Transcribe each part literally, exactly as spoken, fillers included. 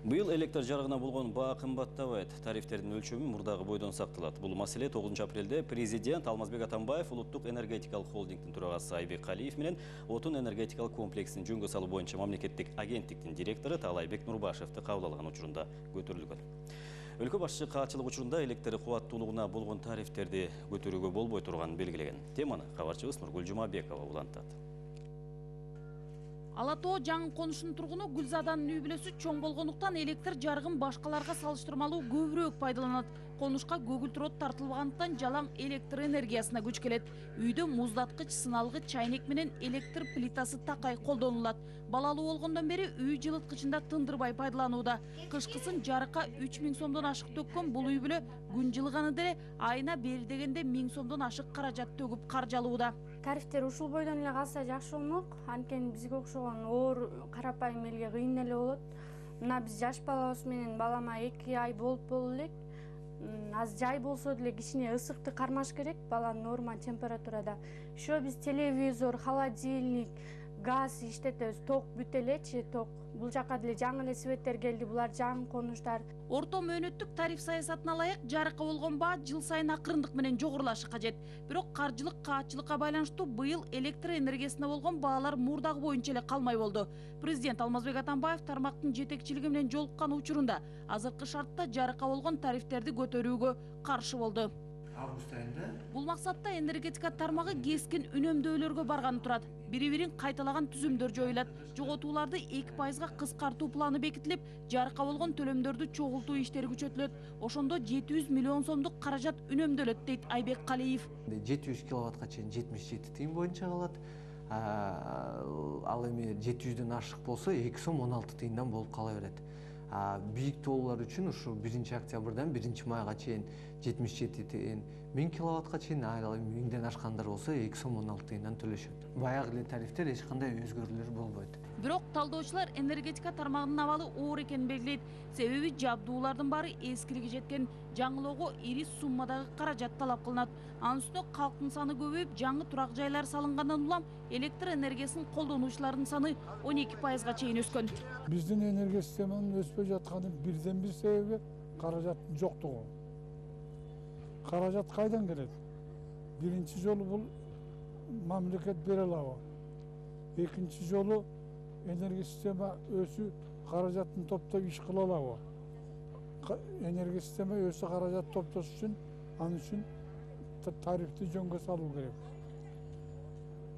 Быйыл электр жарыгына болгон баа кымбаттабайт. Тарифтердин өлчөмү мурдагы бойдон сакталат. Бул маселе тогузунчу апрелде президент Алмазбек Атамбаев Улуттук энергетикалык холдингдин төрагасы Айбек Калиев менен отун энергетикалык комплексин жөнгө салуу боюнча мамлекеттик агенттиктин директору Таалайбек Нурбашевди кабыл алган учурунда көтөрүлгөн. Өлкө башчысы каатчылык учурунда электр кубаттуулугуна болгон тарифтерди көтөрүүгө болбой турганын белгилеген. Теманы кабарчыбыз Нургул Жумабекова улантат. Ала Тоо жаңы конуштун тургуну Гүлзаданын үй бүлөсү чоң болгондуктан электр жарыгын башкаларга салыштырмалуу көбүрөөк пайдаланат. Конушка көгүлтүр от тартылбагандыктан жалаң электр энергиясына күч келет. Үйдө муздаткыч, сыналгыч, чайнек менен электр плитасы такай колдонулат. Балалуу болгондон бери үй жылыткычында тындырбай пайдаланууда. Кышкысын жарыкка үч миң сомдон ашык төккөн бул үй бүлө күн жылыганы деле айына бери дегенде миң сомдон ашык каражат төгүп каржалууда. Тарифтер ушул бойдон эле калса жакшы болмок. Анткени бизге окшогон оор карапайым элге кыйын эле болот. Мына биз жаш балабыз менен балама эки ай болуп болду элек. Аз жай болсо деле кичине ысыкты кармаш керек баланын норма температурада. Ошо биз телевизор, холодильник, газ иштетебиз. Ток бүт элечи, ток. Бул жака деле жаңы эле светтер келди. Булар жаңы конуштар. Орто мөөнөттүк тариф саясатына ылайык жарыкка болгон баа жыл сайын акырындык менен жогорулашы кажет. Бирок каржылык каатчылыкка байланыштуу быйыл электр энергиясына болгон баалар мурдагы боюнча эле калмай болду. Президент Алмазбек Атамбаев тармактын жетекчилиги менен жолуккан учурунда азыркы шартта жарыкка болгон тарифтерди көтөрүүгө каршы болду. Август айында Бул максатта энергетика тармагы кескин үнөмдөөлөргө барганы турат. Бири-бирин кайталаган түзүмдөр жоюлат. Жоготууларды эки пайызга кыскартуу планы бекитилип, жарыкка болгон төлөмдөрдү чогултуу иштери күчөтүлөт. Ошондо жети жүз миллион сомдук каражат үнөмдөлөт дейт Айбек Калиев. жети жүз киловаттка чейин жетимиш жети тыйын боюнча калат. Ал эми жети жүздөн ашык болсо эки сом он алты тыйындан болуп кала берет. Бийик тоолор үчүн ушу биринчи октябрдан биринчи майга чейин жетимиш жети тыйын, миң киловаттка чейин, ал эми миңден ашкандар болсо эки сом он алты тыйындан төлөшөт. Баягы эле тарифтер эч кандай өзгөрүүлөр болбойт. Бирок талдоочулар энергетика тармагынын абалы оор экенин белгилейт. Себеби жабдуулардын баары эскилиги жеткен, жаңылоого ири суммадагы каражат талап кылынат. Анын үстүнө калктын саны көбөйүп, жаңы турак жайлар салынгандан улам электр энергиясын колдонуучулардын саны он эки пайызга чейин өскөн. Биздин энергия системанын өспөй жатканын бирден бир себеби каражаттын жоктугу. Каражат кайдан келет? Биринчи жолу бул мамлекет бере алабы? Экинчи жолу энергия система өсү каражаттын топтоп иш кыла алабы? Энергия система өсү каражат топтош үчүн, анын үчүн тарифти жөнгө салуу керек.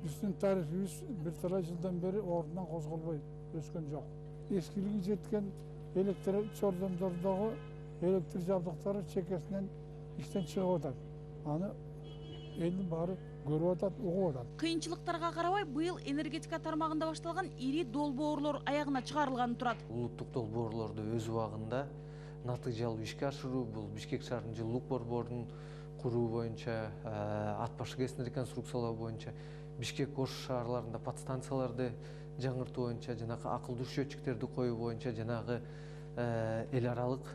Биздин тарифибиз бир талай жылдан бери ордунан козголбой өскөн жок. Эскилиги жеткен электр чордондордогу электр жабдыктары чекесинен иштен чыгып атат. Аны элдин баары көрүп атат, угуп атат. Кыйынчылыктарга карабай быйыл энергетика тармагында башталган ири долбоорлор аягына чыгарылганы турат. Улуттук долбоорлорду өз убагында натыйжалуу ишке ашыруу, бул Бишкек шаарынын жылуулук борборун куруу боюнча, ат башы кесин реконструкциялоо боюнча, Бишкек Ош шаарларында подстанцияларды жаңыртуу боюнча, жанагы акылдуу счетчиктерди коюу боюнча, жанагы эл аралык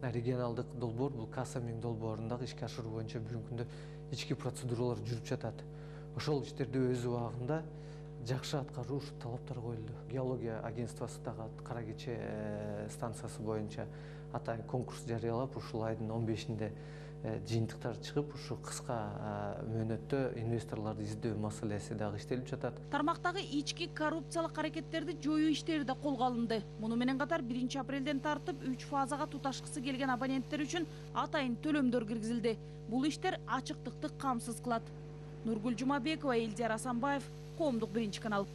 регионалдык долбоор, бул Каса миң долбоорун дагы ишке ашыруу боюнча бүгүнкү күндө ички процедуралар жүрүп жатат. Ошол иштерди өз убагында жакшы аткаруу ушу талаптар коюлду. Геология агентствосу дагы Кара Кече станциясы боюнча атайын конкурс жарыялап, ушул айдын он бешинде жыйынтыктар чыгып, ушу кыска мөөнөттө инвесторлорду издөө маселеси дагы иштелип жатат. Тармактагы ички коррупциялык аракеттерди жоюу иштери да колго алынды. Муну менен катар биринчи апрелден тартып үч фазага туташкысы келген абоненттер үчүн атайын төлөмдөр киргизилди. Бул иштер ачыктыкты камсыз кылат. Нургул Жумабекова, Элдияр Асанбаев, Коомдук биринчи канал.